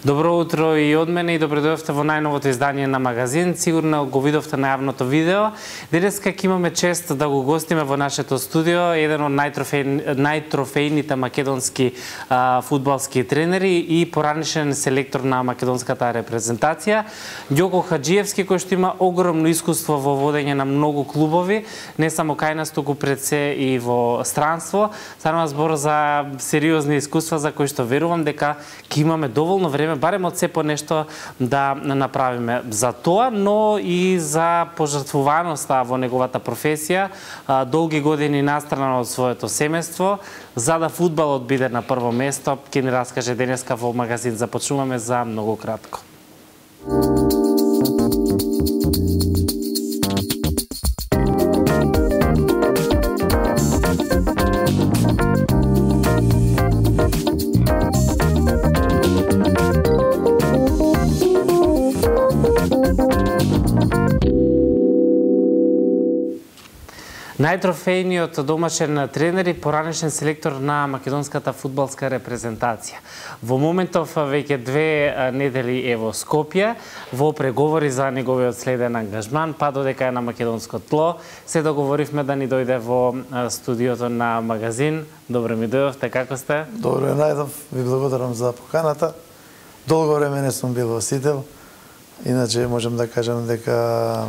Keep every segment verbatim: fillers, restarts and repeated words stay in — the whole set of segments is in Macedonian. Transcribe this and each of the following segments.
Добро утро и од мене и добре дојдовте во најновото издание на Магазин. Сигурно го видовте најавното видео. Денеска ќе имаме чест да го гостиме во нашето студио еден од најтрофејни, најтрофејните македонски а, фудбалски тренери и поранешен селектор на македонската репрезентација, Ѓоко Хаџиевски, кој што има огромно искуство во водење на многу клубови, не само кај нас, туку пред се и во странство. Станува збор за сериозни искуства за кои што верувам дека ќе имаме доволно време, барем од се по нешто да направиме за тоа, но и за пожртвуваноста во неговата професија, долги години настрана од своето семејство, за да фудбалот биде на прво место. Ќе ни раскаже денеска во Магазин. Започнуваме за многу кратко. Најтрофејниот домашен тренер и поранешен селектор на македонската фудбалска репрезентација. Во моментов веќе две недели е во Скопје, во преговори за неговиот следен ангажман, па додека е на македонско тло, се договоривме да ни дојде во студиото на Магазин. Добро ми дојдовте, како сте? Добро најдов, ви благодарам за поканата. Долго време не сум бил во Сител, иначе можам да кажам дека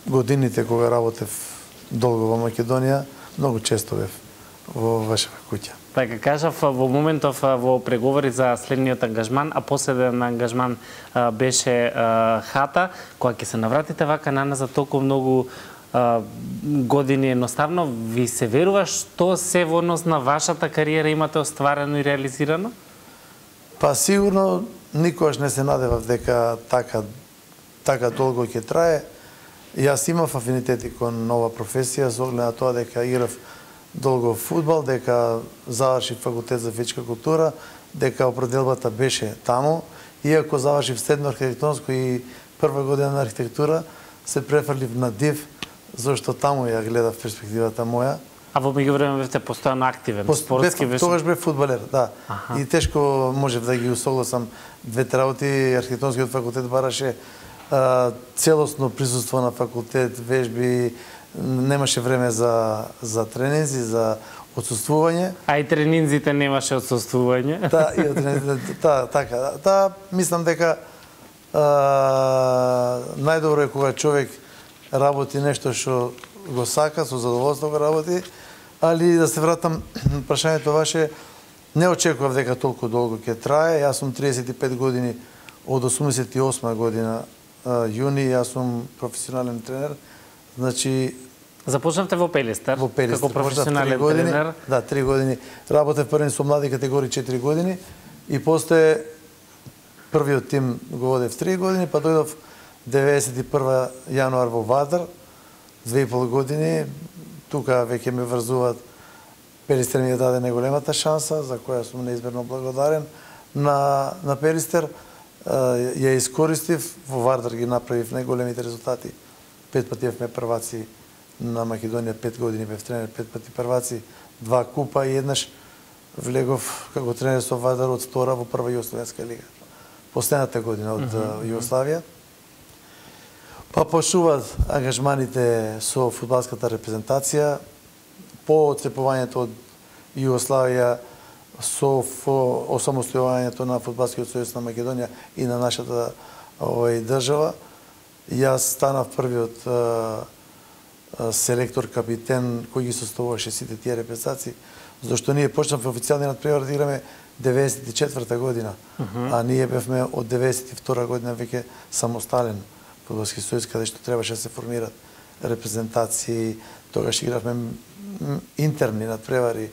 годините кога работев долго во Македонија, многу често бев во вашава куќа. Така кажав, во моментов во преговори за следниот ангажман, а последен ангажман а, беше а, хата, кога ќе се навратите вака на нас за толку многу а, години, едноставно ви се верува што се во однос на вашата кариера имате остварено и реализирано? Па сигурно никогаш не се надевав дека така така долго ќе трае. Јас имав афинитети кон нова професија, со оглед на тоа дека играв долго фудбал, дека завршив факултет за физичка култура, дека определбата беше таму. Иако завршив седмо архитектонско и прва година на архитектура, се префрлив на ДИВ, зашто таму ја гледав перспективата моја. А во меѓувреме бевте постојано активен, Пост, спортски беше? Тогаш бев фудбалер, да. Аха. И тешко можев да ги усогласам двете работи. Архитектонскиот факултет бараше целосно присуство на факултет, вежби, немаше време за за тренинзи, за отсуствување. А и тренинзите немаше отсуствување. Та, и та, така. Та, мислам дека а, најдобро е кога човек работи нешто што го сака, со задоволство го работи, али да се вратам прашањето ваше, не очекував дека толку долго ќе трае. Јас сум триесет и пет години, од осумдесет и осма година јуни, јас сум професионален тренер. Значи започнавте во Пелистер, во Пелистер како професионален години, тренер. Да, три години. Работев првен со млади категории четири години и после првиот тим го водев три години, па дојдов деветдесет и прва јануар во Вадар, две и пол години. Тука веќе ме врзуваат. Пелистер ми ја даде најголемата шанса, за која сум неизмерно благодарен на на Пелистер. Ја искористив, во Вардар ги направив најголемите резултати. Пет пати бевме прваци на Македонија, пет години бев тренер, пет пати прваци, два купа и еднаш влегов како тренер со Вардар од втора во прва југословенска лига. Последната година од uh -huh. Југославија. Па почнуваат ангажманите со фудбалската репрезентација, по отцепувањето од Југославија, со осамостојувањето на Фудбалскиот сојуз на Македонија и на нашата овој држава. Јас станав првиот а, а, селектор, капитен кој ги составуваше сите тие репрезентации, зашто ние почнавме официјални надпревари да играме деветдесет и четврта година, uh -huh. а ние бевме од деветдесет и втора година веќе самостален Фудбалски сојуз, каде што требаше да се формират репрезентации. Тогаш игравме интерни надпревари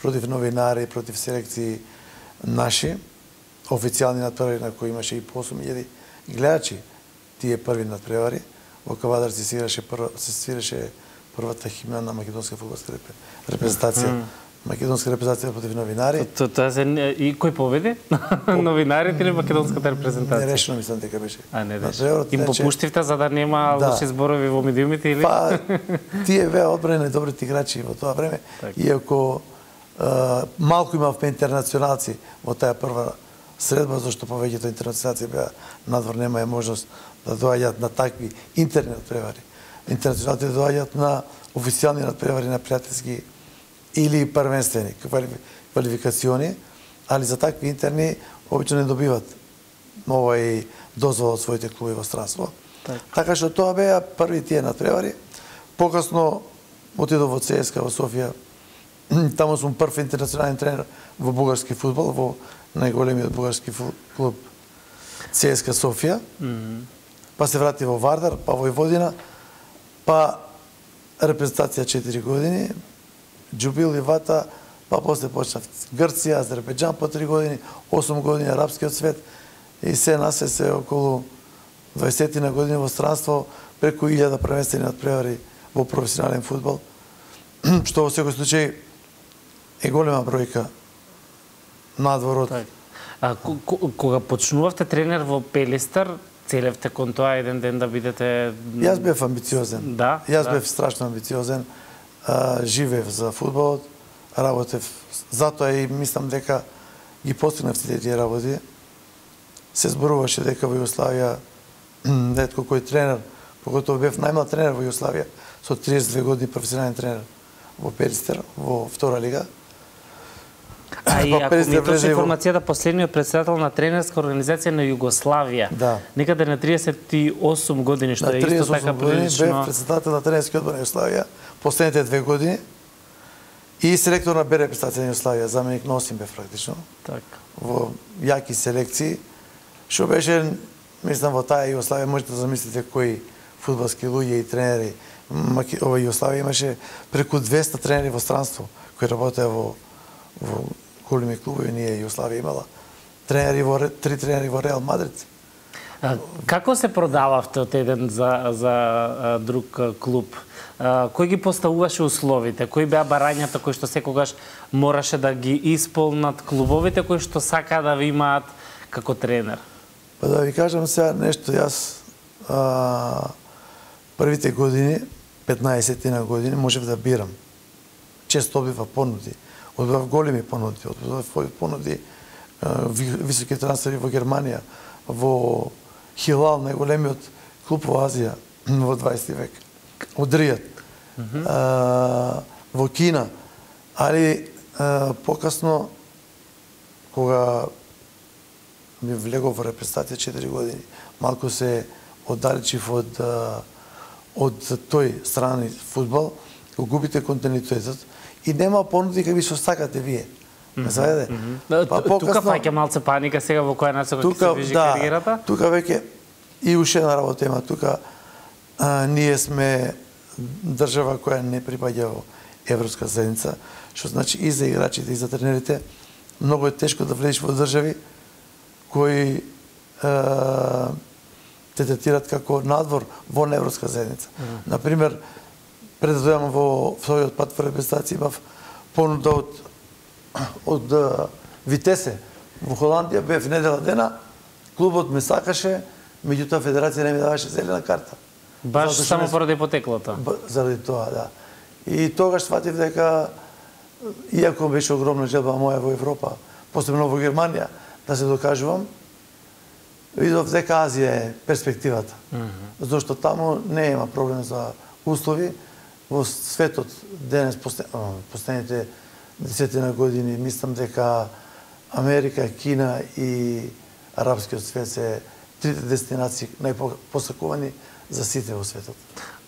против новинари, против селекции наши, официјални надпревари на кои имаше и по осум илјади гледачи. Тие први надпревари, во Кавадар се свираше, се свираше првата химна на македонска фудбалска репрезентација. Mm. Македонска репрезентација против новинари. Тоа се и кој победи? Новинарите или македонската репрезентација? Нерешено мислам дека беше. А не беше. Им попуштивте за да нема да. лоши зборови во медиумите или? Па тие беа одбрани добрите играчи во тоа време, так. Иако малку имавме интернационалци во таа прва средба, зашто повеќето интернационалци беа надвор, нема е можност да доаѓаат на такви интерни надпревари. Интернационалци доаѓаат на официјални надпревари на пријателски или првенствени квалификациони, али за такви интерни обично не добиват овај дозвола од своите клубови во странство. Так. Така што тоа беа први тие надпревари. Покасно отидов во ЦСКА во Софија. Таму сум прв интернационален тренер во бугарски фудбал, во најголемиот бугарски клуб ЦСКА Софија. Mm -hmm. Па се врати во Вардар, па во Војводина, па репрезентација четири години, Џубил и Вата, па после почнав Грција, Азербејџан по три години, осум години арапскиот свет и се насе се околу дваесет години во странство, преку илјада првенствени надпревари во професионален фудбал, што во секој случај е голема бројка надвор од... А, кога почнувавте тренер во Пелистар, целевте кон тоа еден ден да бидете... Јас бев амбициозен. Да? Јас да. бев страшно амбициозен. А, живеев за фудбалот, работев. Затоа и мислам дека ги постигнав сите тие работи. Се зборуваше дека во Југославија ретко кој тренер, поготово бев најмлад тренер во Југославија, со триесет и две години професионален тренер во Пелистер, во втора лига. А и ако ми точно информацијата, последниот председател на тренерска организација на Југославија, да. Некаде на триесет и осум години, што е исто така прилично... Бев председател на тренерски одбор на Југославија последните две години и селектор на Б репрезентација на Југославија, заменик на осим бев практично. Так. Во јаки селекции, што беше, мислам, во таа Југославија можете да замислите кои фудбалски луѓе и тренери. Ова Југославија имаше преку двеста тренери во странство кои работеа во во големи клубови. Ние Југославија имала тренери во три тренери во Реал Мадрид. А, како се продававте од еден за за а, друг а, клуб? А, кој ги поставуваше условите? Кои беа барањата кои што секогаш мораше да ги исполнат клубовите кои што сакаа да ви имаат како тренер? Па да ви кажам сега нешто, јас а, првите години, петнаесет години, можев да бирам. Често добива понуди. Одбрав големи понуди, одбрав понуди, високи трансфери во Германија, во Хилал, најголемиот клуб во Азија во дваесети век, од Ријад, mm -hmm. а, во Кина, али а, покасно, кога ми влегов во репрезентација четири години, малку се оддалечив од, од тој страни фудбал, го губите континуитетот, и нема понуди какви што сакате вие. Ме заведе? Mm -hmm. Па, покасно, тука фаќа малце паника сега во која насока ќе се движи да, кариерата? Тука веќе и уште една работа има. Тука а, ние сме држава која не припаѓа во Европска заедница, што значи и за играчите и за тренерите многу е тешко да влезеш во држави кои а, те третираат како надвор во Европска заедница. Mm -hmm. Например, пред да дојдам во својот пат во репрезентација имав понуда од од Витесе во Холандија, бев недела дена, клубот ме сакаше, меѓутоа федерација не ми даваше зелена карта. Баш само поради потеклото. Заради тоа, да. И тогаш сватив дека иако беше огромна желба моја во Европа, посебно во Германија, да се докажувам, видов дека Азија е перспективата. Mm -hmm. Зашто таму не има проблем за услови. Во светот денес, последните десетина години, мислам дека Америка, Кина и арапскиот свет се трите дестинации најпосакувани за сите во светот.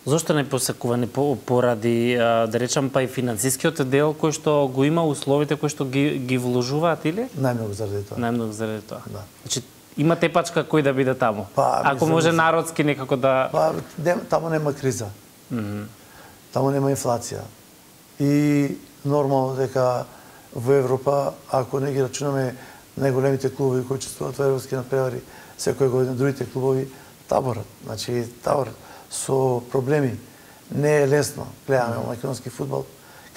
Зошто најпосакувани? Поради, да речам, па и финансискиот дел кој што го има, условите кои што ги, ги вложуваат, или? Најмногу заради тоа. Најмногу заради тоа. Да. Значи, има тепачка кој да биде таму? Па, ако може народски некако да... Па, таму нема криза. Mm -hmm. Таму нема инфлација. И нормално дека во Европа, ако не ги рачунаме најголемите клубови кои учествуваат во европски надпревари, секоја година другите клубови таборат. Значи, таборат со проблеми. Не е лесно. Гледаме mm. македонски фудбал,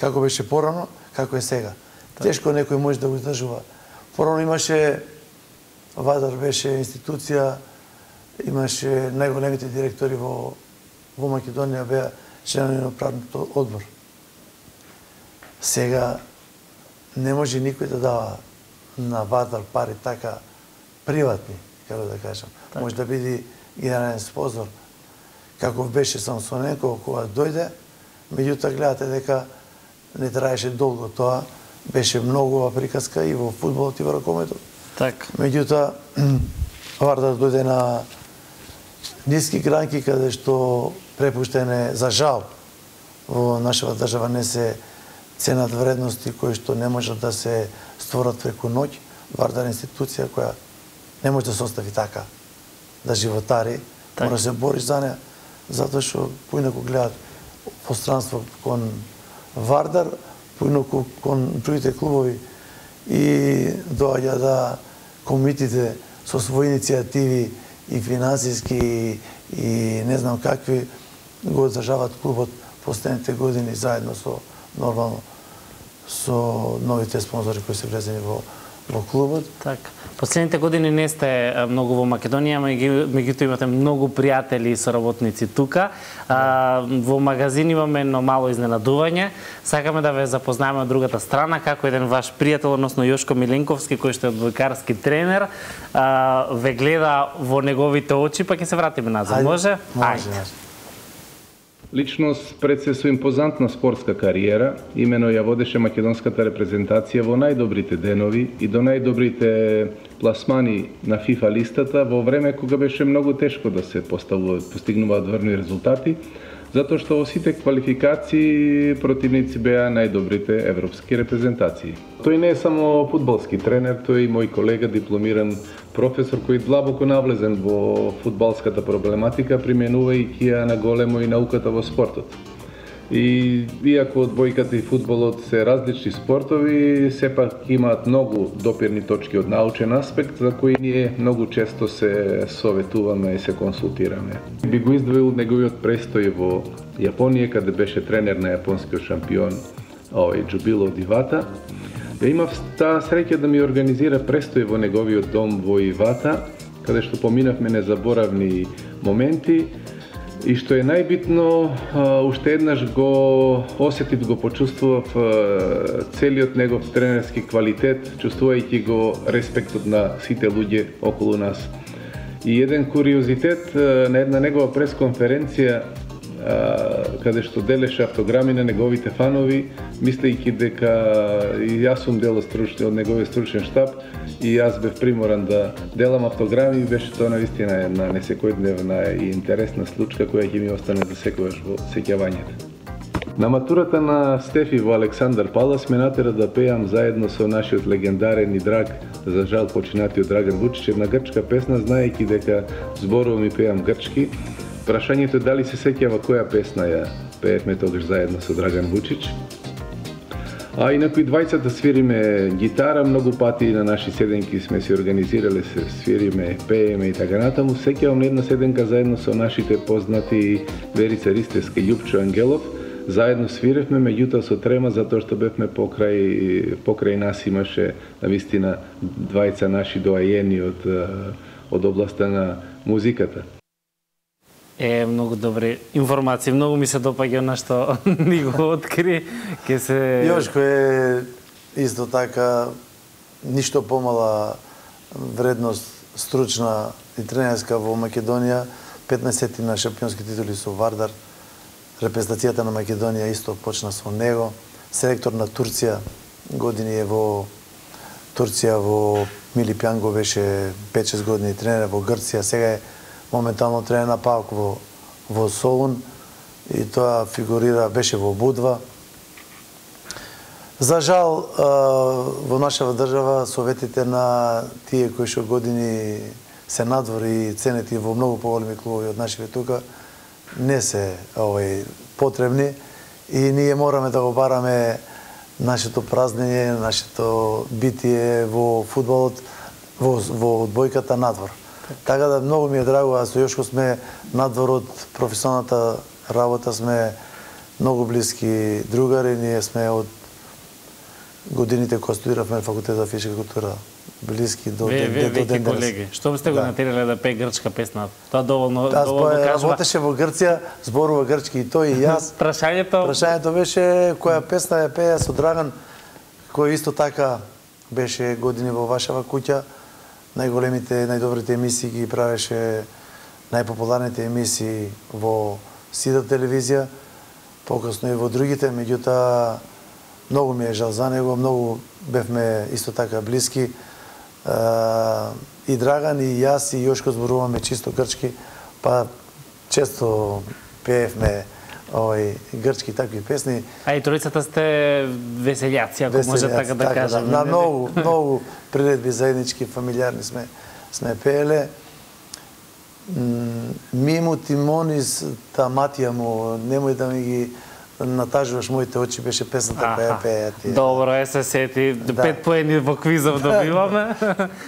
како беше порано, како е сега. Так. Тешко некој може да го издржува. Порано имаше, Вадар беше институција, имаше најголемите директори во, во Македонија, беа членови на управниот одбор. Сега не може никој да дава на Вадар пари така приватни, како да кажам. Так. Може да биде генерален спонзор, како беше Самсоненко кога дојде, меѓутоа гледате дека не траеше долго тоа, беше многува приказка и во фудбалот и во ракометот. Так. Меѓутоа Вардар дојде на ниски гранки каде што препуштене за жал во нашава држава не се ценат вредности кои што не можат да се створат преку ноќ. Вардар е институција која не може да се остави така, да животари, так. Мора да се бориш за неа, затоа што поинаку гледат пространство кон Вардар, поинаку кон другите клубови и доаѓа да комитите со своји иницијативи и финансиски и не знам какви го одржават клубот последните години заедно со нормално со новите спонзори кои се влезени во во клубот. Так. Последните години не сте многу во Македонија, меѓутоа имате многу пријатели и соработници тука. А, во магазин имаме едно мало изненадување. Сакаме да ве запознаеме од другата страна, како еден ваш пријател, односно Јошко Миленковски, кој што е одбојкарски тренер, а, ве гледа во неговите очи, па ќе се вратиме назад. Може? Може. Личност пред се со импозантна спортска кариера, имено ја водеше македонската репрезентација во најдобрите денови и до најдобрите пласмани на ФИФА листата во време кога беше многу тешко да се поставуваат, постигнуваат врни резултати, затоа што во сите квалификации противници беа најдобрите европски репрезентации. Тој не е само фудбалски тренер, тој е и мој колега, дипломиран професор кој длабоко навлезен во фудбалската проблематика, применувајќи ја на големо и науката во спортот. И иако одбојката и фудбалот се различни спортови, сепак имаат многу допирни точки од научен аспект за кои ние многу често се советуваме и се консултираме. Би го издвоил неговиот престој во Јапонија, каде беше тренер на јапонскиот шампион овој Џубило Ивата. Ја имав таа среќа да ми организира престој во неговиот дом во Ивата, каде што поминавме незаборавни моменти и што е најбитно, уште еднаш го осетив, го почувствував целиот негов тренерски квалитет, чувствувајќи го респектот на сите луѓе околу нас. И еден куриозитет на една негова пресконференција, каде што делеше автограми на неговите фанови, мислејќи дека и јас сум дел од неговиот стручен штаб и јас бев приморан да делам автограми, беше тоа навистина една несекојдневна и интересна случка која ќе ми остане за секогаш во сеќавањето. На матурата на Стефи во Александар Палас ме натера да пеам заедно со нашиот легендарен и драг, за жал починатиот Драган Вучич, една грчка песна, знаејќи дека зборувам и пеам грчки. Прашањето е дали се сеќава која песна ја пеевме тогаш заедно со Драган Вучич. А инаку и двајцата свириме гитара, многу пати на наши седенки сме се организирале, се свириме, пееме и така натаму. Сеќавам на една седенка заедно со нашите познати Верица Ристевска и Јупчо Ангелов. Заедно свиревме, меѓутоа со трема, затоа што бевме покрај, покрај нас имаше навистина двајца наши доајени од, од областа на музиката. Е, многу добри информации, многу ми се допаѓа на што ни го откри. Ке се... Јошко е исто така ништо помала вредност стручна и тренерска во Македонија, петнаесет на шампионски титули со Вардар, репрезентацијата на Македонија исто почна со него, селектор на Турција, години е во Турција, во Мили Пјанго беше пет-шест години тренер, во Грција, сега е моментално тренер на ПАОК во, во Солун и тоа фигурира, беше во Будва. За жал, во нашава држава советите на тие кои што години се надвори и ценети во многу поголеми клубови од нашите тука, не се овој потребни и ние мораме да го бараме нашето празнење, нашето битие во фудбалот, во, во одбојката надвор. Така да многу ми е драго, а со Јошко сме надвор од професионалната работа, сме многу блиски другари, ние сме од годините кога студиравме факултет за физичка култура, блиски до ден денес. Ве, ве, колеги, што сте го натерале да пее грчка песна? Тоа доволно, доволно кажува. Работеше во Грција, зборува грчки и тој и јас. Прашањето... Прашањето беше која песна ја пеја со Драган, кој исто така беше години во вашава куќа. најголемите, најдобрите емисии ги правеше, најпопуларните емисии во Сида телевизија, покасно и во другите, меѓутоа многу ми е жал за него, многу бевме исто така блиски. И Драган, и јас, и Јошко зборуваме чисто грчки, па често пеевме овој грчки такви песни. А и тројцата сте веселјаци, ако може така да кажем. На многу, многу приредби заеднички, фамилиарни сме сме пееле. Мимо Тимонис, та матија му, немој да ми ги натажуваш моите очи, беше песната која пеја ти. Добро е, се сети. Да. Пет поени во квизов добиваме.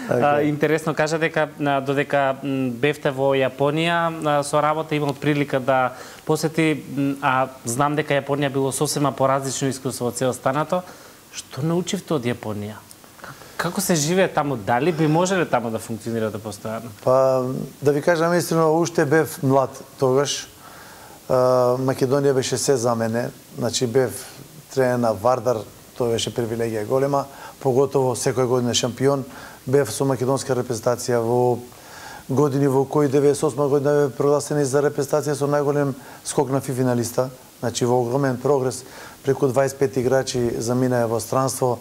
Okay. Интересно кажа дека додека бевте во Јапонија со работа, имал прилика да посети, а знам дека Јапонија било сосема поразлично искуство од се останато. Што научивте од Јапонија? Како се живее таму? Дали би можеле таму да функционирате постојано? Па, да ви кажам истина, уште бев млад тогаш. Македонија беше се за мене. Значи, бев тренер на Вардар, тоа беше привилегија голема, поготово секоја година шампион. Бев со македонска репрезентација во години во кои деветдесет и осма година бе прогласени за репрезентација со најголем скок на ФИ финалиста. Значи, во огромен прогрес, преку дваесет и пет играчи заминаа во странство,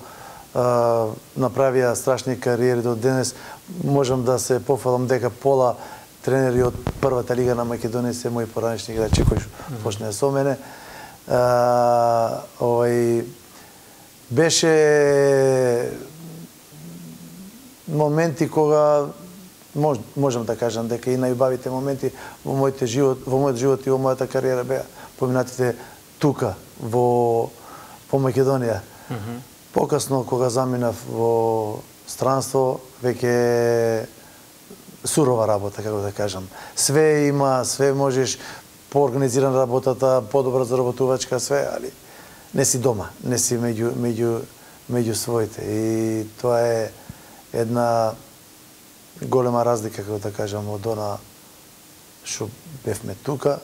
направија страшни кариери до денес. Можам да се пофалам дека пола тренери од првата лига на Македонија се мои поранешни играчи кои почнаа со мене. Овој беше моменти кога мож, можам да кажам дека и најубавите моменти во мојот живот, во мојот живот и во мојата кариера беа поминатите тука во во Македонија. Mm -hmm. Покасно кога заминав во странство, веќе сурова работа, како да кажам. Све има, све можеш, поорганизиран работата, подобра заработувачка, све, али не си дома, не си меѓу, меѓу, меѓу своите. И тоа е една голема разлика, како да кажам, од она што бевме тука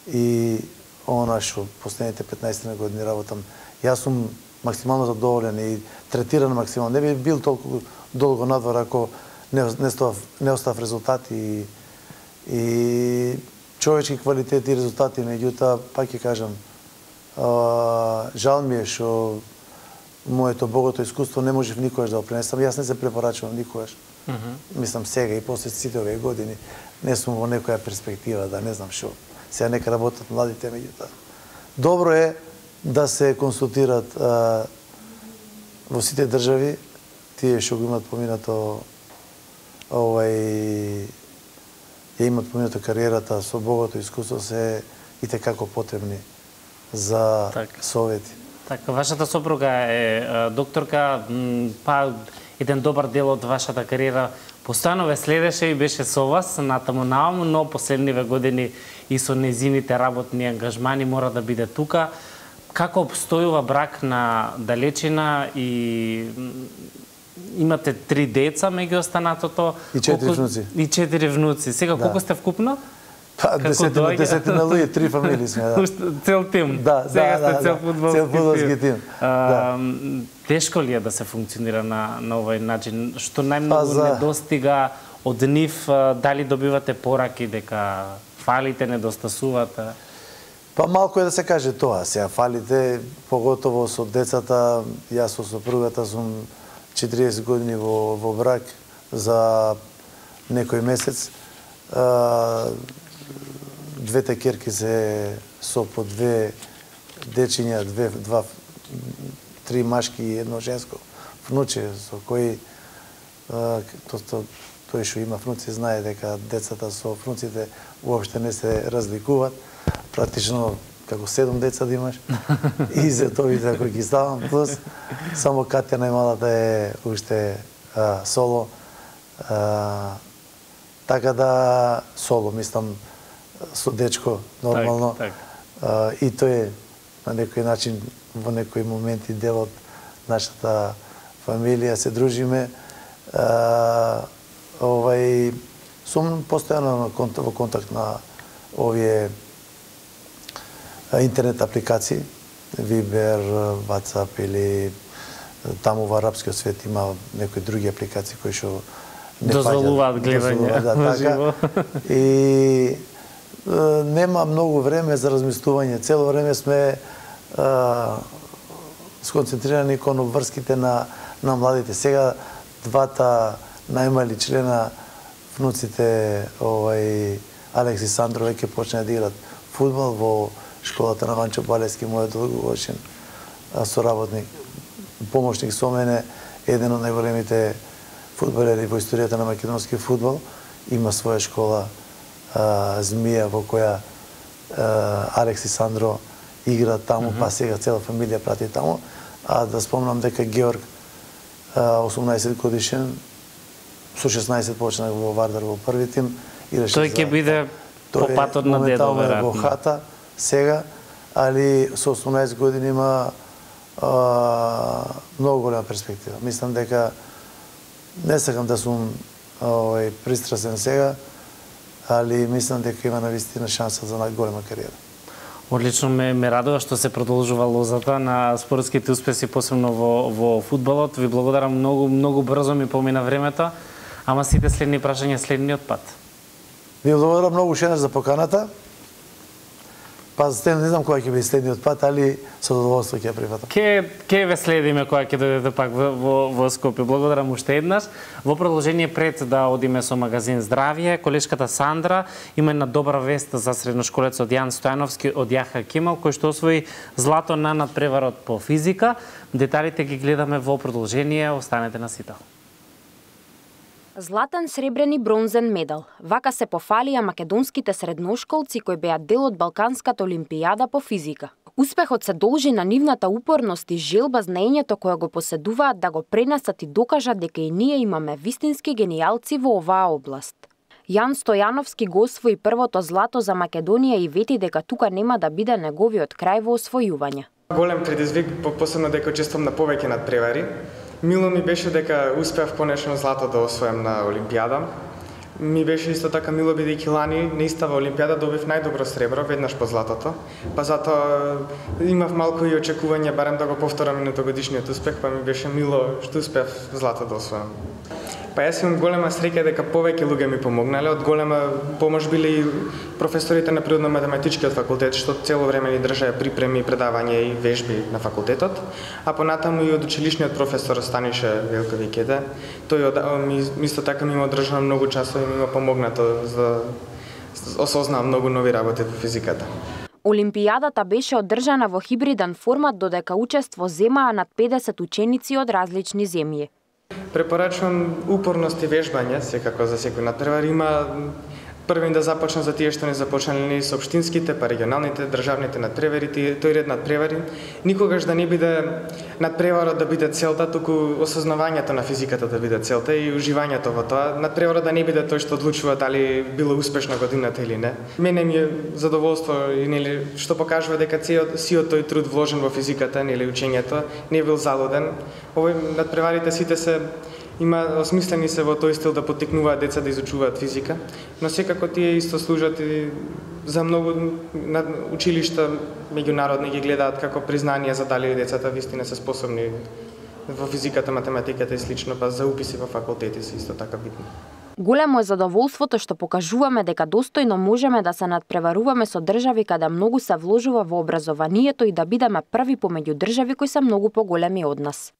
и она што последните петнаесет години работам. Јас сум максимално задоволен и третиран максимално. Не би бил толку долго надвор ако не, не, став, не остав резултати и, и човечки квалитети и резултати, меѓутоа, пак ќе кажам, а, жал ми е што моето богато искуство не можев никогаш да го пренесам. Јас не се препорачувам никогаш. Mm -hmm. Мислам сега и после сите овие години не сум во некоја перспектива да не знам што. Сега нека работат младите, меѓутоа. Добро е да се консултират а, во сите држави, тие што го имат поминато овај ја имат поминато кариерата со богато искуство, се и текако потребни за так. совети. Така, вашата сопруга е докторка, па еден добар дел од вашата кариера постојано ве следеше и беше со вас натаму нааму, но последниве години и со незините работни ангажмани мора да биде тука. Како обстојува брак на далечина и имате три деца меѓу останатото? И четири колку... внуци. И четири внуци. Сега, да. Колку сте вкупно? Па, десетина, десетина луѓе, три фамилии сме, да. Цел тим. Да, Сега да, сте да, цел да. фудбалски, цел фудбалски тим. А, да. Тешко ли е да се функционира на, на овој начин? Што најмногу па, за... недостига од нив? Дали добивате пораки дека фалите, недостасувате? Па малку е да се каже тоа. Сега фалите, поготово со децата, јас со сопругата сум четириесет години во, во брак за некој месец. А, двете керки се со по две дечиња, две, два, три машки и едно женско внуче, со кои а, то, то, тој што има внуци знае дека децата со внуците уопште не се разликуваат. Практично како седум деца да имаш и за товите ако ги ставам, плюс само Катја најмалата е уште а, соло. А, така да соло, мислам, со дечко нормално. Так, так. А, и тој е на некој начин во некои моменти дел од нашата фамилија, се дружиме. А, овај сум постојано во контакт на овие интернет апликации, Viber, WhatsApp или таму во арапскиот свет има некои други апликации кои што не дозволуваат гледање да, на така. живо. И е, нема многу време за размислување. Цело време сме е, сконцентрирани кон обврските на на младите. Сега двата најмали члена, внуците, овај Алекс и Сандро веќе почна да играат фудбал во школата на Ванчо Балески, мојот долгогодишен соработник, помошник со мене, еден од најголемите фудбалери во историјата на македонски фудбал, има своја школа а, Змија во која а, Алекс и Сандро играат таму, mm -hmm. па сега цела фамилија прати таму. А да спомнам дека Георг, осумнаесет годишен, со шеснаесет почнах во Вардар во први тим. Тој ќе биде по патот на дедо, веројатно. Во хата сега, али со осумнаесет години има а, многу голема перспектива. Мислам дека не сакам да сум овај пристрасен сега, али мислам дека има навистина шанса за најголема кариера. Одлично, ме, ме радува што се продолжува лозата на спортските успеси, посебно во, во фудбалот. Ви благодарам многу, многу брзо ми помина времето, ама сите следни прашања следниот пат. Ви благодарам многу шенаш за поканата. Па стен не знам кога ќе биде следниот пат, али со задоволство ќе ја прифатам. Ке ке ве следиме кога ќе дојдете пак во, во, во Скопје. Благодарам уште еднаш. Во продолжение пред да одиме со магазин Здравје, колешката Сандра има една добра вест за средношколецот Јан Стојановски од Јаха Кемал, кој што освои злато на надпреварот по физика. Деталите ги гледаме во продолжение, останете на сител. Златен, сребрен и бронзен медал. Вака се пофалија македонските средношколци кои беа дел од Балканската олимпијада по физика. Успехот се должи на нивната упорност и желба знаењето кое го поседуваат да го пренесат и докажат дека и ние имаме вистински генијалци во оваа област. Јан Стојановски го освои првото злато за Македонија и вети дека тука нема да биде неговиот крај во освојување. Голем предизвик, посебно дека учествувам на повеќе надпревари. Мило ми беше дека успеав конечно злато да освојам на Олимпијада. Ми беше исто така мило бидејќи лани на истава Олимпијада добив најдобро сребро, веднаш по златото. Па затоа имав малку и очекување барем да го повторам минутогодишниот успех, па ми беше мило што успеав злато да освојам. Па јас имам голема среќа дека повеќе луѓе ми помогнале, од голема помош биле и професорите на природно-математичкиот факултет, што цело време ни држаа припреми, предавања и вежби на факултетот, а понатаму и од училишниот професор Станише Велковикеде. Тој од, ми, исто така ми има одржано многу часови и ми има помогнато за да осознавам многу нови работи во физиката. Олимпијадата беше одржана во хибриден формат, додека учество земаа над педесет ученици од различни земји. Препорачувам упорност и вежбање, секако за секој надпревар. Има првен да започна за тие што не започнале со општинските, па регионалните, државните надпревари, тој ред надпревари. Никогаш да не биде надпреварот да биде целта, туку осознавањето на физиката да биде целта и уживањето во тоа. Надпреварот да не биде тој што одлучува дали било успешна годината или не. Мене ми е задоволство и нели што покажува дека сиот тој труд вложен во физиката, нели учењето, не бил залуден. Овој надпреварите сите се има осмислени се во тој стил да поттикнуваат деца да изучуваат физика, но секако тие исто служат и за многу училишта меѓународни ги гледаат како признание за дали децата вистина се способни во физиката, математиката и слично, па за уписи во факултети се исто така битни. Големо е задоволството што покажуваме дека достојно можеме да се надпреваруваме со држави каде многу се вложува во образованието и да бидеме први помеѓу држави кои се многу поголеми од нас.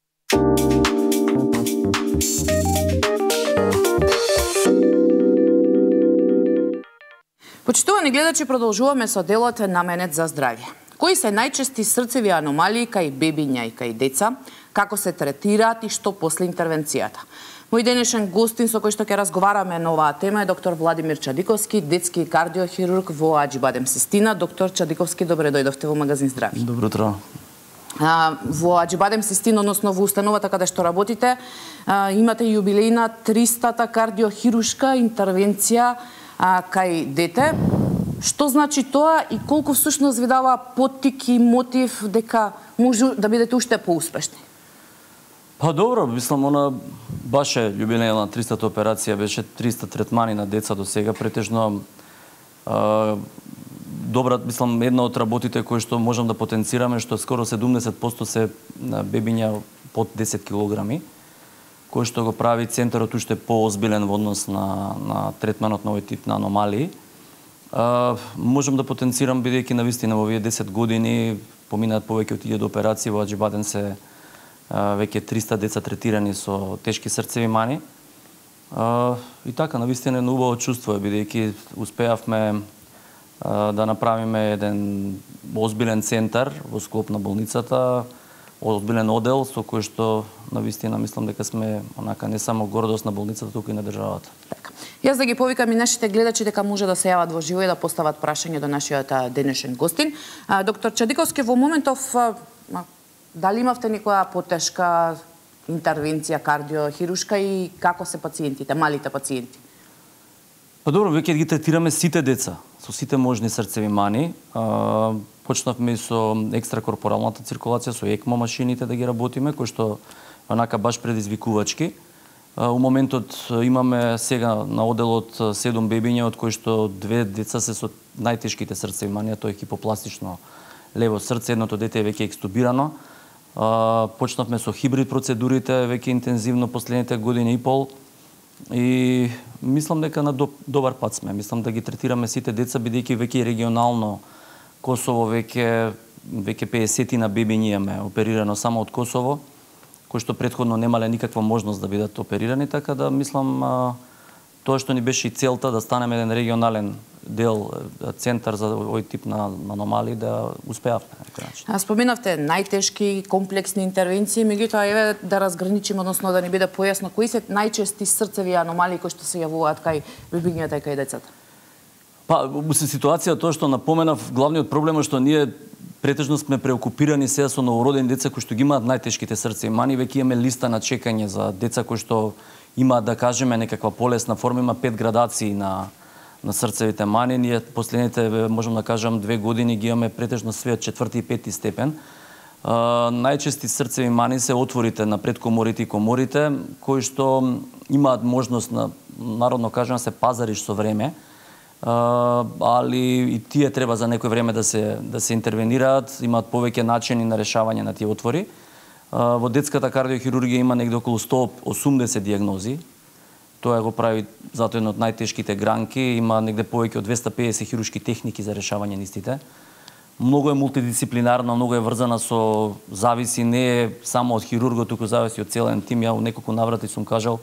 Почитувани гледачи, продолжуваме со делот наменет за здравје. Кои се најчести срцеви аномалии кај бебиња и кај деца, како се третираат и што после интервенцијата? Мој денешен гостин со кој што ќе разговараме на оваа тема е доктор Владимир Чадиковски, детски кардиохирург во Аџибадем Систина. Доктор Чадиковски, добре дојдовте во магазин Здравје. Добро утро. А, во Аџибадем Систина, односно во установата каде што работите, а, имате јубилејна тристата кардиохирушка интервенција а, кај дете. Што значи тоа и колку всушност ви дава поттик и мотив дека може да бидете уште поуспешни? Па добро, мислам, она баш е јубилејна тристата операција, беше триста третмани на деца до сега, претежно а, добра, мислам, една од работите кои што можам да потенцираме, што скоро седумдесет проценти се бебиња под десет килограми, кој што го прави центарот уште поозбилен во однос на, на третманот на овој тип на аномалии. А, можам да потенцирам, бидејќи навистина во овие десет години поминаат повеќе од илјада операции, во Аџибаден се а, веќе триста деца третирани со тешки срцеви мани. А, и така, навистина едно убаво чувство е, бидејќи успеавме а, да направиме еден озбилен центар во склоп на болницата, озбилен одел со кој што навистина мислам дека сме онака не само гордост на болницата, туку и на државата. Така. Јас да ги повикам и нашите гледачи дека може да се јават во живо и да постават прашање до нашиот денешен гостин. А, доктор Чадиковски, во моментов а, дали имавте некоја потешка интервенција кардиохирушка и како се пациентите, малите пациенти? Па добро, веќе ги третираме сите деца со сите можни срцеви мани. А, почнавме и со екстракорпоралната циркулација, со ЕКМО машините да ги работиме, кои што онака баш предизвикувачки. А, у моментот имаме сега на оделот седум бебиња, од кои што две деца се со најтешките срцеви мани, тоа е хипопластично лево срце, едното дете е веќе екстубирано. А, почнавме со хибрид процедурите веќе интензивно последните години и пол. И мислам дека на добар пат сме. Мислам да ги третираме сите деца, бидејќи веќе регионално Косово веќе веќе педесет на бебињи имаме оперирано само од Косово, кои што претходно немале никаква можност да бидат оперирани, така да мислам а, тоа што ни беше и целта да станеме еден регионален дел, центар за овој тип на аномалии, да успеавме на некој начин. А споменавте најтешки комплексни интервенции, меѓутоа еве да разграничиме, односно да ни биде појасно кои се најчести срцеви аномалии кои што се јавуваат кај бебињата и кај децата. Па, се ситуација тоа што напоменав, главниот проблем е што ние претежно сме преокупирани сега со новородени деца кои што ги имаат најтешките срцеви мани, веќе имаме листа на чекање за деца кои што имаат, да кажеме, некаква полесна форма, има пет градации на на срцевите мани. Ние последните, можам да кажам, две години ги имаме претежно све од четврти и пети степен. Uh, најчести срцеви мани се отворите на предкоморите и коморите, кои што имаат можност на, народно кажам, се пазариш со време. Uh, али и тие треба за некој време да се да се интервенираат, имаат повеќе начини на решавање на тие отвори. Uh, во детската кардиохирургија има негде околу сто и осумдесет диагнози. Тоа го прави затоа една од најтешките гранки, има негде повеќе од двесте и педесет хируршки техники за решавање на истите. Многу е мултидисциплинарно, многу е врзана со зависи не е само од хирургот, туку зависи од целен тим. Ја во неколку наврати сум кажал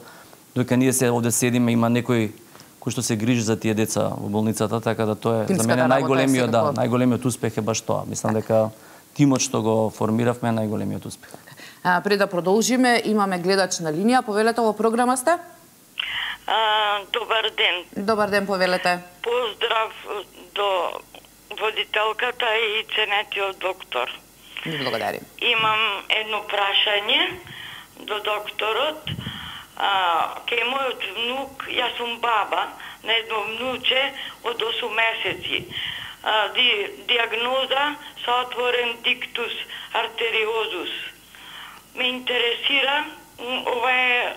дека ние се овде седиме, има некој кој што се грижи за тие деца во болницата, така да тоа е за мене најголемиот, да, најголемиот успех е баш тоа. Мислам дека тимот што го формиравме е најголемиот успех. А, пред да продолжиме, имаме гледач на линија. Повелете, во програма сте? А, добар ден. Добар ден, повелете. Поздрав до водителката и ценетиот доктор. Ви благодарим. Имам едно прашање до докторот. А, кај мојот внук, јас сум баба на едно внуче од осум месеци. А, ди, диагноза со отворен диктус артериозус. Ме интересира, ова е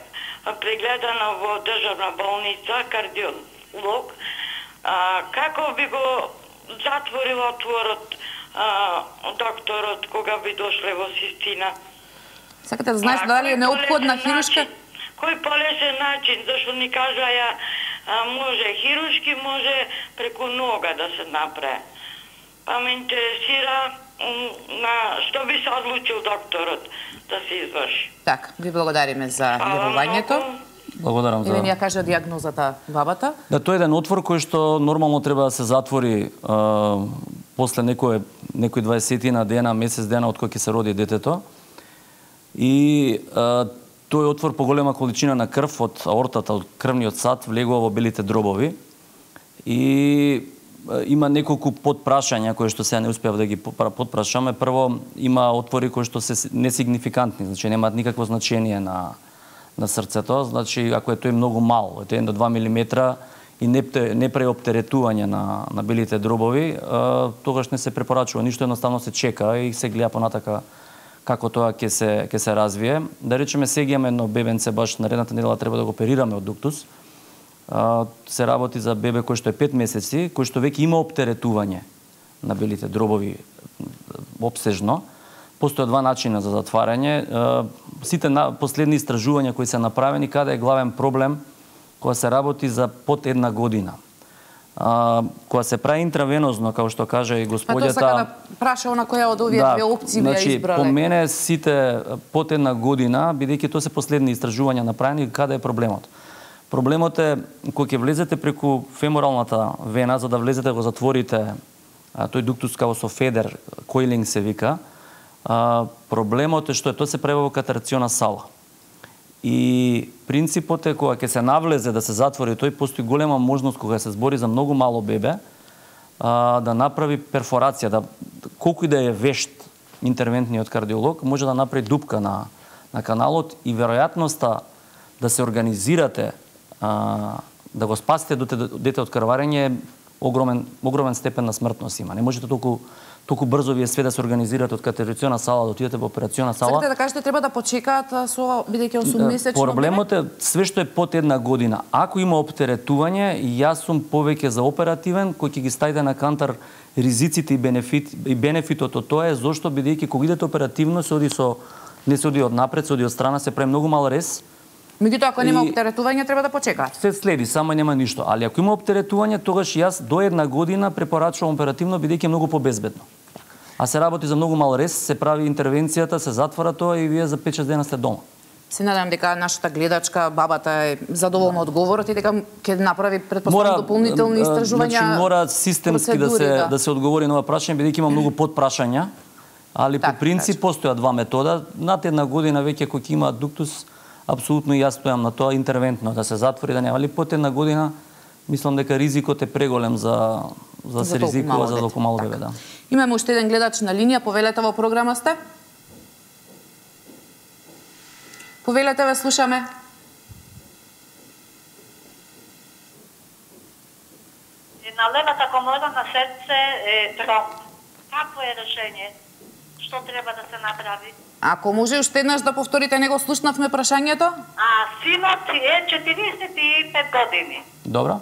прегледана во државна болница, кардиолог, а, како би го затворил отворот а, докторот кога би дошле во Систина? Сакате да знаеш дали е неопходна хирушка? Кој полесен начин, зашто ни кажаја а, може хирушки, може преку нога да се направи. Па ме интересира на што би се одлучил докторот да се изврши. Така, ви благодариме за јавувањето. Благодарам за... Или ни ја кажа диагнозата бабата. Да, тоа е еден отвор кој што нормално треба да се затвори а, после некој некој дваесет дена, месец дена од кога ќе се роди детето. И а, тој отвор по голема количина на крв од аортата, од крвниот сад влегува во белите дробови. И има неколку подпрашања кои што сега не успеав да ги подпрашаме. Прво, има отвори кои што се несигнификантни, значи немаат никакво значение на на срцето, значи ако е тој многу мал, е еден до два милиметра и не не преоптеретување на на белите дробови, а, тогаш не се препорачува ништо, едноставно се чека и се гледа понатака како тоа ќе се ќе се развие. Да речеме сега имаме едно бебенце, баш наредната недела треба да го оперираме од дуктус. Uh, се работи за бебе кој што е пет месеци, кој што веќе има оптеретување на белите дробови обсежно. Постојат два начина за затварање. Сите последни истражувања кои се направени, каде е главен проблем кога се работи за под една година. А, кога се прави интравенозно, како што кажа и господјата... Па тоа сака да праша она која од овие да, две опции значи, ја избрале. По мене сите под една година, бидејќи тоа се последни истражувања направени, каде е проблемот? Проблемот е кога ќе влезете преку феморалната вена, за да влезете го затворите а, тој дуктус како со федер, коилинг се вика, а, проблемот е што е тоа се прави во катарациона сала. И принципот е кога ќе се навлезе да се затвори тој, постои голема можност кога се збори за многу мало бебе а, да направи перфорација, да колку и да е вешт интервентниот кардиолог, може да направи дупка на на каналот и веројатноста да се организирате а, да го спасите дете од крварење огромен огромен степен на смртност има. Не можете толку толку брзо вие све да се организирате од катарациона сала да отидете во операциона сала. Сакате да кажете треба да почекаат со бидејќи осуммесечно. Проблемот е све што е под една година. Ако има оптеретување, јас сум повеќе за оперативен, кој ќе ги ставите на кантар ризиците и бенефит и бенефитот од тоа е зошто бидејќи кога идете оперативно се оди со не се оди од напред, се оди од страна, се прави многу мал рез. Меѓутоа, ако нема оптеретување, треба да почекаат. Се следи, само нема ништо. Али ако има оптеретување, тогаш јас до една година препорачувам оперативно, бидејќи е многу побезбедно. А се работи за многу мал рез, се прави интервенцијата, се затвара тоа и вие за пет-шест дена сте дома. Се надевам дека нашата гледачка, бабата е задоволна од одговорот и дека ќе направи предпоставам дополнителни истражувања. Значи мора системски да се да. да се одговори на ова прашање, бидејќи има многу подпрашања, али так, по принцип постојат два метода. Над една година веќе кој има дуктус, апсолутно јас стојам на тоа интервентно да се затвори, да нема, али под една година мислам дека ризикот е преголем за за, за се ризикува за толку мало бебе, да. Имаме уште еден гледач на линија, повелете во програма сте. Повелете, ве слушаме. На левата комора на срце е тромб. Какво е решение? Што треба да се направи? Ако може уште еднаш да повторите, него слушнавме прашањето? А, синот е четириесет и пет години. Добро.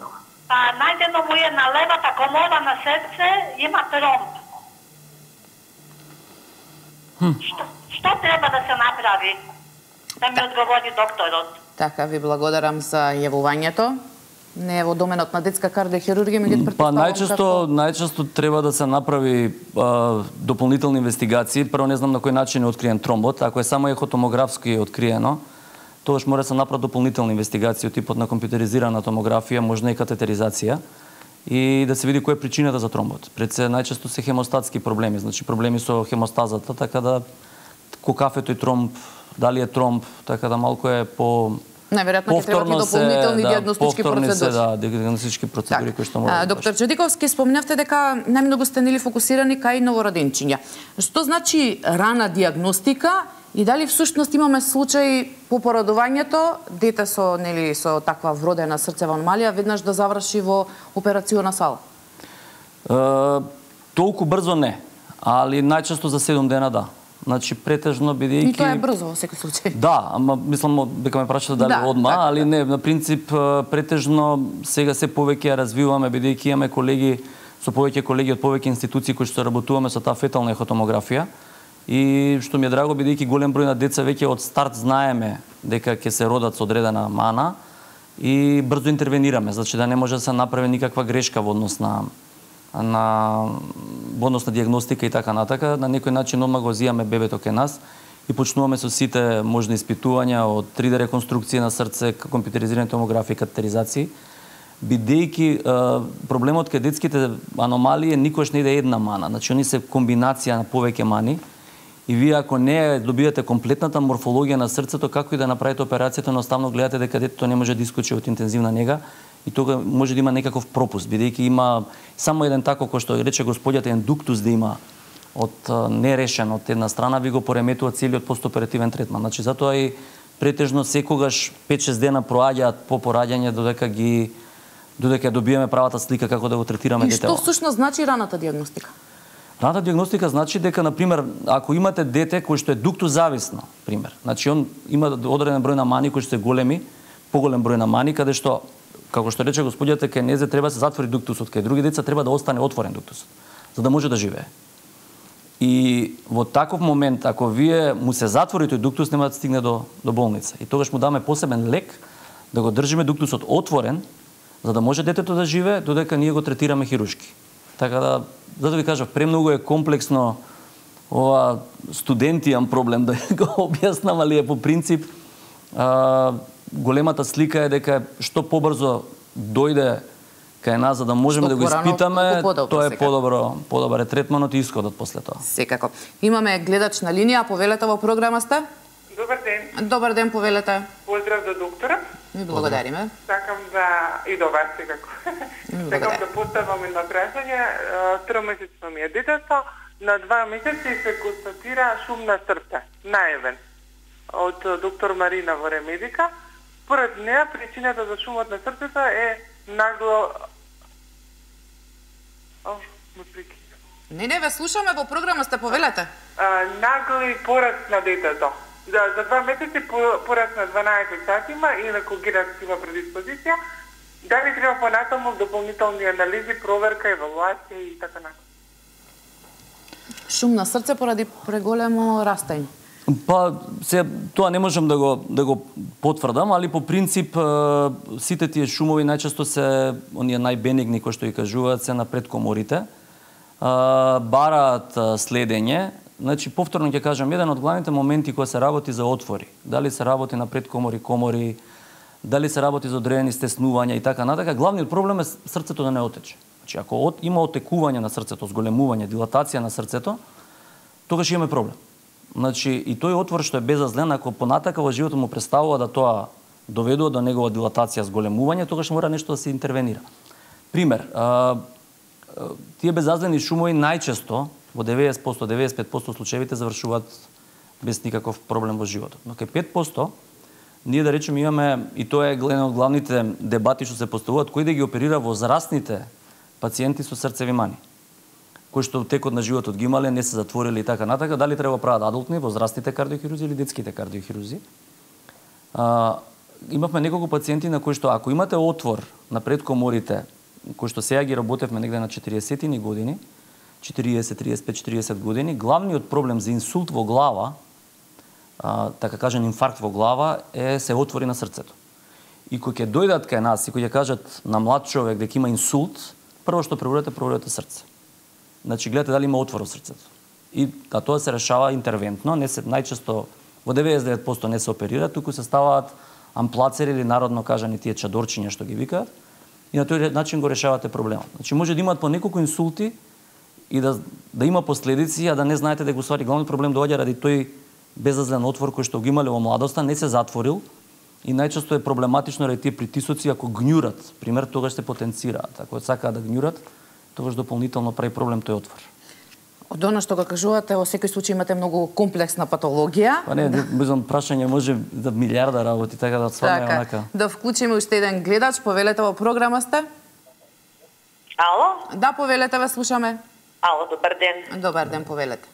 Па најдено му е на левата комора на срце, има тромб. Хм. Што, што треба да се направи? Да ми одговори докторот. Така, ви благодарам за јавувањето. Не е во доменот на детска кардиохирургија, меѓутоа Па претпоставувам најчесто како... најчесто треба да се направи а, дополнителни инвестигации. Прво не знам на кој начин е откриен тромбот, ако е само ехотомографски откриено, тогаш мора да се направат дополнителни инвестигации од типот на компјутеризирана томографија, можна и катетеризација и да се види која е причината за тромбот. Пред се најчесто се хемостатски проблеми, значи проблеми со хемостазата, така да кокафето и тромб, дали е тромб, така да малку е по Најверојатно ќе требаат и дополнителни да, дијагностички процедури. Се, да, дијагностички процедури кои што мора. Доктор Чудиковски, спомнавте дека најмногу сте нели фокусирани кај новороденчиња. Што значи рана дијагностика и дали всушност имаме случаи по породувањето дете со нели со таква вродена срцева аномалија веднаш да заврши во операциона сала? Е, толку брзо не, али најчесто за седум дена да. Значи претежно бидејќи... И тоа е брзо во секој случај. Да, ама мислам дека ме прашате дали да, одма, так, али так. не, на принцип претежно сега се повеќе ја развиваме бидејќи имаме колеги со повеќе колеги од повеќе институции кои што работуваме со таа фетална ехотомографија и што ми е драго бидејќи голем број на деца веќе од старт знаеме дека ќе се родат со одредена мана и брзо интервенираме, значи да не може да се направи никаква грешка во однос на на во однос на дијагностика и така натака, на некој начин одма го зијаме бебето кај нас и почнуваме со сите можни испитувања од три Д реконструкција на срце, компјутеризирани томографии, катетеризации, бидејќи проблемот кај детските аномалии никош не иде една мана, значи они се комбинација на повеќе мани и вие ако не добиете комплетната морфологија на срцето, како и да направите операцијата, едноставно гледате дека детето не може да искочи од интензивна нега и тога може да има некаков пропуст, бидејќи има само еден тако кој што рече господјата еден дуктус да има од нерешен од една страна, ви го пореметува целиот постоперативен третман. Значи затоа и претежно секогаш пет-шест дена проаѓаат по пораѓање додека ги додека добиеме правата слика како да го третираме детето. И што всушност значи раната дијагностика? Раната дијагностика значи дека на пример ако имате дете кој што е дуктус зависно, пример, значи он има одреден број на мани кои што се големи, поголем број на мани каде што како што рече господјата, кај незе треба да се затвори дуктусот, кај други деца треба да остане отворен дуктусот, за да може да живее. И во таков момент, ако вие му се затвори тој дуктус, нема да стигне до, до болница. И тогаш му даме посебен лек да го држиме дуктусот отворен, за да може детето да живее, додека ние го третираме хируршки. Така да, за да ви кажав, премногу е комплексно ова студентијан проблем, да го објаснам, али е по принцип а, големата слика е дека што побрзо дојде кај нас за да можеме да го испитаме, тоа е подобро, подобар е третманот и исходот после тоа. Секако. Имаме гледач на линија, повелете во програма сте? Добар ден. Добар ден, повелете. Поздрав до доктора. Ми благодариме. Сакам да и до вас секако. Сакам да поставам едно прашање. Тромесечно ми е детето, на два месеци се констатира шум на срце, најавен од доктор Марина во Ремедика. Според неа причината за шумот на срцето е нагло О, ме прекина. Не, не, ве слушаме, во програма сте, повелете. А, нагли пораст на детето. За, за два месеци пораст на дванаесет сатима, инаку генетска предиспозиција. Дали треба понатаму дополнителни анализи, проверка, евалуација и така натаму? Шум на срце поради преголемо растење. Па, се, тоа не можам да го, да го потврдам, али по принцип сите тие шумови најчесто се оние најбенигни, кои што и кажуваат, се на предкоморите. Бараат следење. Значи, повторно ќе кажам, еден од главните моменти кои се работи за отвори, дали се работи на предкомори, комори, дали се работи за одредени стеснувања и така натака, главниот проблем е срцето да не отече. Значи, ако от, има отекување на срцето, зголемување, дилатација на срцето, тогаш имаме проблем. Значи, и тој отвор што е безазлен, ако понатака во животот му представува да тоа доведува до негова дилатација, зголемување, тогаш мора нешто да се интервенира. Пример, а, тие безазлени шумови најчесто во деветдесет до деветдесет и пет проценти случаевите завршуваат без никаков проблем во животот. Но кај пет проценти ние да речеме имаме, и тоа е еден од главните дебати што се поставуваат, кој да ги оперира возрастните пациенти со срцеви мани, кои што текот на животот ги имале, не се затворили и така натака, дали треба прават адултни, возрастните кардиохирузи или детските кардиохирузи. А, имавме неколку пациенти на кои што ако имате отвор на предкоморите, кои што сега ги работевме негде на четириесеттини години, четириесет, триесет и пет, четириесет години, главниот проблем за инсулт во глава, а, така кажан инфаркт во глава, е се отвори на срцето. И кои ќе дојдат кај нас и кои ќе кажат на млад човек дека има инсулт, прво што проверете, проверете срце. Значи гледате дали има отвор во срцето. И а тоа се решава интервентно, не се најчесто во деветдесет и девет проценти не се оперира, туку се ставаат амплацери или народно кажани тие чадорчиња што ги викаат, и на тој начин го решавате проблемот. Значи може да имаат по неколку инсулти и да да има последици, а да не знаете дека уствари главниот проблем доаѓа ради тој безазлен отвор кој што го имале во младоста, не се затворил и најчесто е проблематично ради тие притисоци ако гњурат, пример тогаш се потенцираат. Ако сакаат да гњурат, тогаш дополнително прави проблем тој отвор. Од она што го кажувате, во секој случај имате многу комплексна патологија. Па не, мислам прашање може да милиарда работи, така да сварне така, онака. Да вклучиме уште еден гледач, повелете во програма сте? Ало? Да, повелете, ве слушаме. Ало, добар ден. Добар ден, повелете.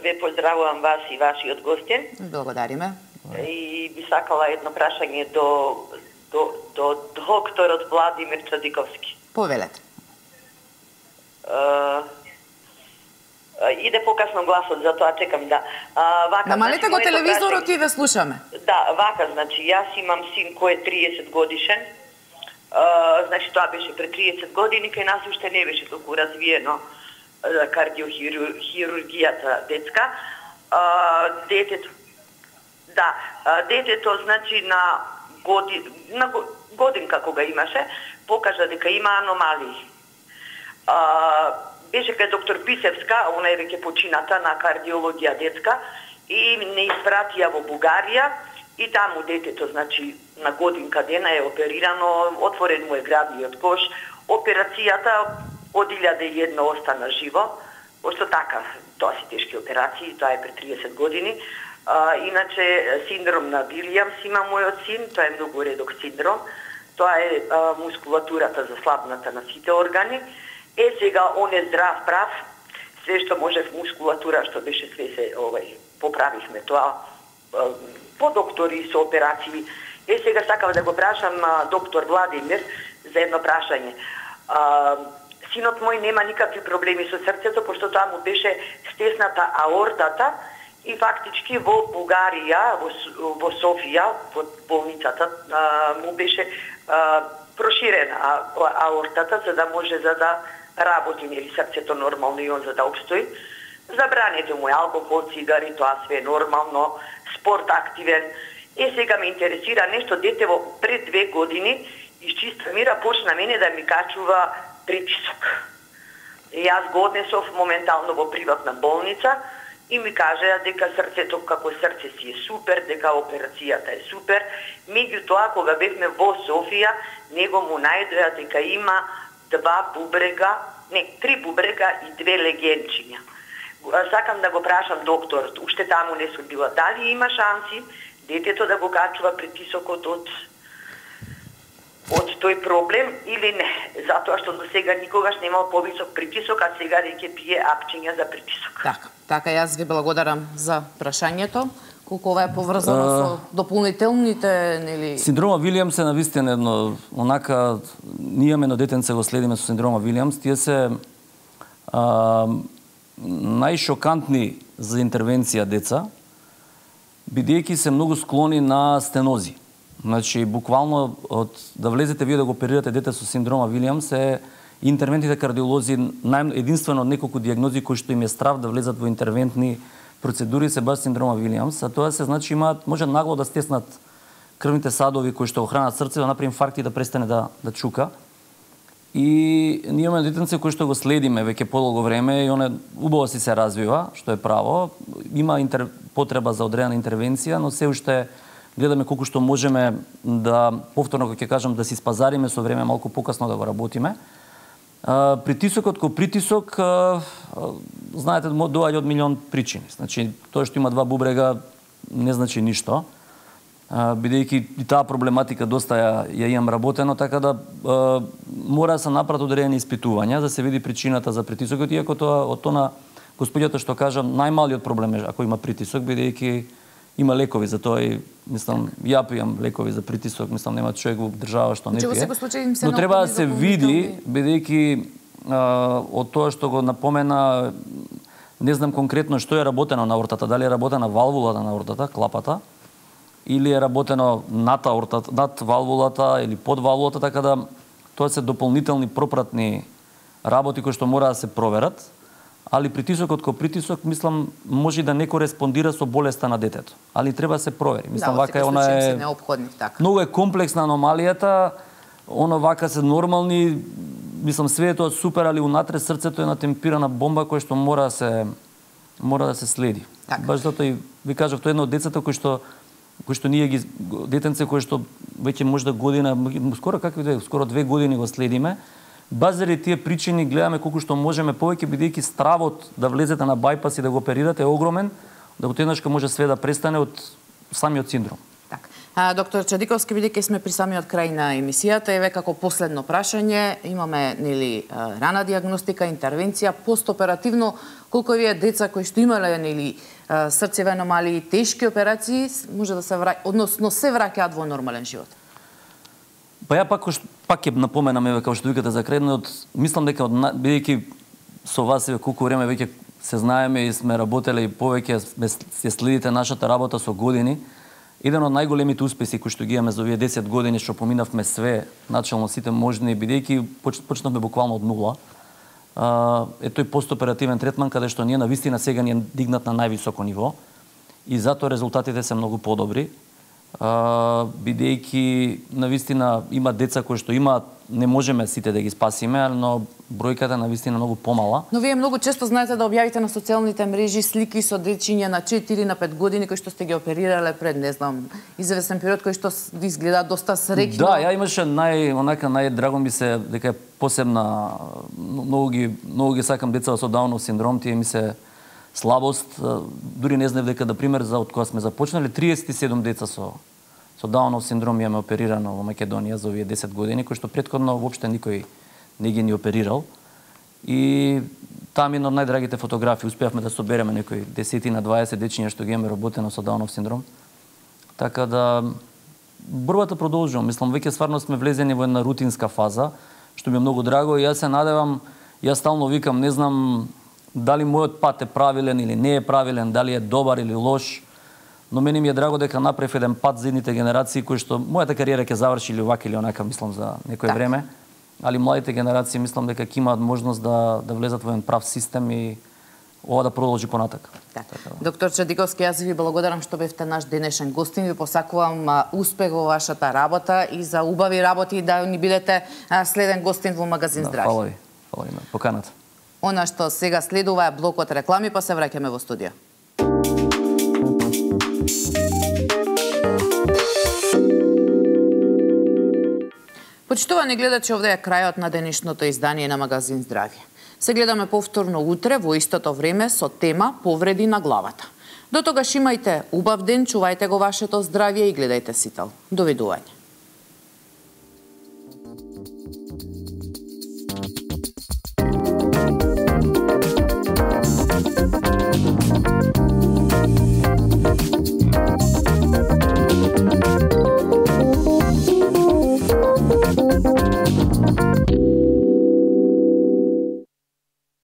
Ве поздравувам вас и вашиот гостин. Благодариме. И би сакала едно прашање до, до, до докторот Владимир Чадиковски. Повелете. Uh, иде покасно гласот, затоа чекам да. Uh, вака, намалете значи, го телевизорот и ве слушаме. Да, вака, значи, јас имам син кој е триесет годишен. Uh, значи, тоа беше пред триесет години, кај нас уште не беше толку развиено uh, кардиохирургијата детска. Uh, детето, да, uh, детето, значи, на, годи, на годинка кога имаше, покажа дека има аномалии. Uh, беше кај доктор Писевска, она е веќе почината на кардиологија детска, и не испратија во Бугарија, и таму детето, значи, на годинка дена е оперирано, отворен му е градниот кош, операцијата од илјада и една остана живо, ошто така, тоа си тешки операции, тоа е пред триесет години. Uh, иначе, синдром на Вилијамс има мојот син, тоа е многу редок синдром, тоа е uh, мускулатурата заслабната на сите органи. Е, сега, он е здрав, прав, све што може в мускулатура, што беше све се, овај, поправивме тоа, по доктори со операции. Е, сега сакав да го прашам доктор Владимир за едно прашање. А, Синот мој нема никакви проблеми со срцето, пошто тоа му беше стесната аортата и фактички во Бугарија, во, во Софија, во болницата, а, му беше а, проширена аортата, за да може за да работи, нели срцето нормално и он за да обстои. Забранете му алкохол, цигари, тоа све е нормално, спорт активен. Е, сега ме интересира нешто, детево пред две години из чиста мира почна мене да ми качува притисок. И јас го однесов моментално во приватна болница и ми кажа дека срцето како срце си е супер, дека операцијата е супер. Меѓутоа, кога бевме во Софија, него му најдоја дека има два бубрега, не, три бубрега и две легенчиња. Сакам да го прашам докторот, уште таму не сум била, дали има шанси детето да го качува притисокот од од тој проблем или не, затоа што до сега никогаш немал повисок притисок, а сега веќе пие апчиња за притисок. Така, така јас ви благодарам за прашањето. Колку ова е поврзано uh, со дополнителните, нели... Синдрома Вилијамс е навистина едно, онака, ние имаме едно детенце го следиме со синдрома Вилијамс, тие се а, најшокантни за интервенција деца, бидејќи се многу склони на стенози. Значи, буквално, од да влезете вие да го оперирате дете со синдрома Вилијамс е интервентните кардиолози, нај, единствено од неколку диагнози кои што им е страв да влезат во интервентни процедури се баш синдрома Вилијамс, а тоа се значи имаат може нагло да стеснат крвните садови кои што го хранат срце, да направи инфаркт и да престане да да чука. И ние имаме детенце кои што го следиме веќе подолго време и оне убаво си се развива, што е право. Има интер... потреба за одредена интервенција, но се уште гледаме колку што можеме да повторно како ќе кажам да си спазариме со време малку покасно да го работиме. Uh, притисокот ко притисок, uh, uh, знаете, доаѓа од милион причини. Значи, тоа што има два бубрега не значи ништо, uh, бидејќи и таа проблематика доста ја, ја имам работено, така да uh, мора да се направат одредени испитувања за да се види причината за притисокот, иако тоа од тоа господјата што кажам, најмалиот проблем е ако има притисок, бидејќи има лекови за тоа и мислам ја пијам лекови за притисок, мислам нема човек во држава што не пие. Но треба да се види бидејќи од тоа што го напомена, не знам конкретно што е работено на аортата, дали е работена валвулата на аортата, клапата, или е работено над аортата, над валвулата или под валвулата, така да тоа се дополнителни пропратни работи кои што мора да се проверат. Али притисокот ко притисок, мислам, може да не кореспондира со болеста на детето. Али треба да се провери. Мислам, да, вака е она е неопходни, така. Многу е комплексна аномалијата, оно вака се нормални, мислам, све е тоа супер, али унатре срцето е на темпирана бомба која што мора да се мора да се следи. Так. Баш затоа и ви кажав, тоа е едно од децата кои што кои што ние ги детенце кои што веќе можда година, скоро какви две, скоро две години го следиме. Баш заради тие причини гледаме колку што можеме повеќе, бидејќи стравот да влезете на бајпас и да го оперирате е огромен, да го теднашка може све да престане од самиот синдром. Так. А, доктор Чадиковски, бидејќи сме при самиот крај на емисијата, еве како последно прашање, имаме нели рана диагностика, интервенција, постоперативно, колку вие деца кои што имале нели срцеви аномалии, тешки операции, може да се враќаат, односно се враќаат во нормален живот? Па ја пак пак ќе напоменам еве како што викате за крај, од мислам дека од бидејќи со вас еве колку време веќе се знаеме и сме работеле и повеќе се следите нашата работа со години, еден од најголемите успеси кои што ги имаме за овие десет години што поминавме све, начално сите можни, бидејќи почнавме буквално од нула. Е тој постоперативен третман каде што ние навистина сега ни е дигнат на највисоко ниво и затоа резултатите се многу подобри. Uh, бидејќи навистина има деца кои што имаат, не можеме сите да ги спасиме, но бројката навистина многу помала. Но вие многу често знаете да објавите на социјалните мрежи слики со дечиња на четири на пет години кои што сте ги оперирале пред, не знам, известен период кои што ви изгледа доста среќно. Да, ја имаше нај онака најдраго ми се дека е посебна, многу ги многу ги сакам деца со Даунов синдром, тие ми се слабост, дури не знаев дека, да пример, за од кога сме започнале, триесет и седум деца со со Даунов синдром имаме оперирано во Македонија за овие десет години, кои што претходно воопште никој не ги ни оперирал. И таму една од најдрагите фотографии, успеавме да собереме некои десет на дваесет дечиња што ги имаме работено со Даунов синдром. Така да борбата продолжува. Мислам, веќе стварно сме влезени во една рутинска фаза, што ми е многу драго и јас се надевам Јас стално викам, не знам дали мојот пат е правилен или не е правилен, дали е добар или лош, но мене ми е драго дека направив еден пат за едните генерации кои што мојата кариера ќе заврши или вака или онака, мислам, за некое так. време, али младите генерации мислам дека ќе имаат можност да да влезат во еден прав систем и ова да продолжи понатак. Так. Доктор Чадиковски, јас ви благодарам што бевте наш денешен гостин. Ви посакувам а, успех во вашата работа и за убави работи да ни бидете а, следен гостин во магазин Здравје. Да, фала ви. Фала ви на поканата. Она што сега следува е блокот реклами, па се враќаме во студио. Почитувани гледачи, овде е крајот на денешното издание на магазин Здравје. Се гледаме повторно утре во истото време со тема повреди на главата. До тогаш имајте убав ден, чувајте го вашето здравје и гледајте Сител. Довидување.